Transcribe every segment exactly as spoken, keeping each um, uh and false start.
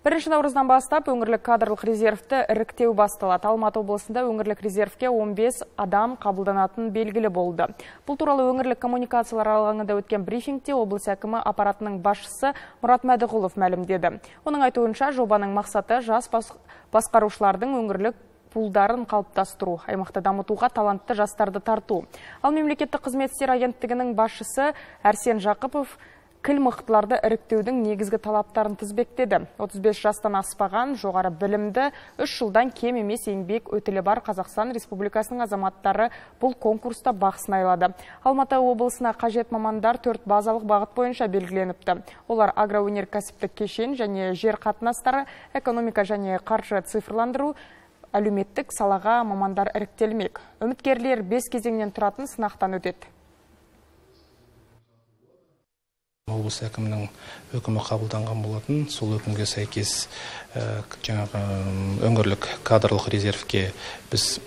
Бірінші наурыздан бастап өңірлік кадрлық резервті іріктеу басталады. Алматы облысында өңірлік резервке он бес адам қабылданатын белгілі болды. Бұл туралы өңірлік коммуникациялар алаңында өткен брифингте облыс әкімі аппаратының басшысы Мұрат Мәдіғұлов мәлімдеді. Оның айтуынша жобаның мақсаты жас басқарушылардың өңірлік пулдарын қалыптастыру, аймақты дамытуға талантты жастарды тарту. Ал мемлекеттік қызмет істері агенттігінің басшысы Әрсен Жақыпов кіл мықтыларды іріктеудің негізгі талаптарын тізбектеді. отыз бес жастан аспаған, жоғары білімді, үш жылдан кем емес еңбек өтілі бар Қазақстан Республикасының азаматтары бұл конкурста бақ сынайлады. Алматы облысына қажет мамандар төрт базалық бағыт бойынша белгіленіпті. Олар агроөнеркәсіптік кешен және жер қатынастары, экономика және қаржы цифрландыру, әлеуметтік салаға мамандар іріктелмек. Үміткерлер бес кезеңнен тұратын сынақтан өтеді. Облыс әкімінің өкімі қабылданған болатын. Сол өкімге сәйкес жаңағы өңірлік кадрлық резервке біз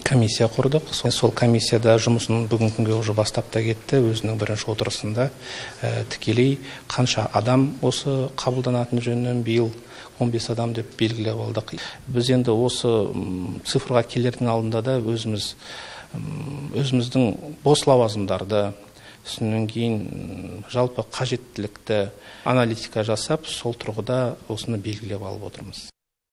комиссия құрдық. Сол комиссияда жұмысын бүгінгі күнге уже бастап та кетті. Өзінің бірінші отырысында тікелей қанша адам осы қабылданатын жөнінен биыл он бес адам деп белгілеп алдық. Біз енді осы цифрға келердің алдында да өзіміз өзіміздің бос лауазымдарды, содан кейін жалпы қажеттілікті аналитика жасап, сол тұрғыда осыны белгілеп алып отырмыз.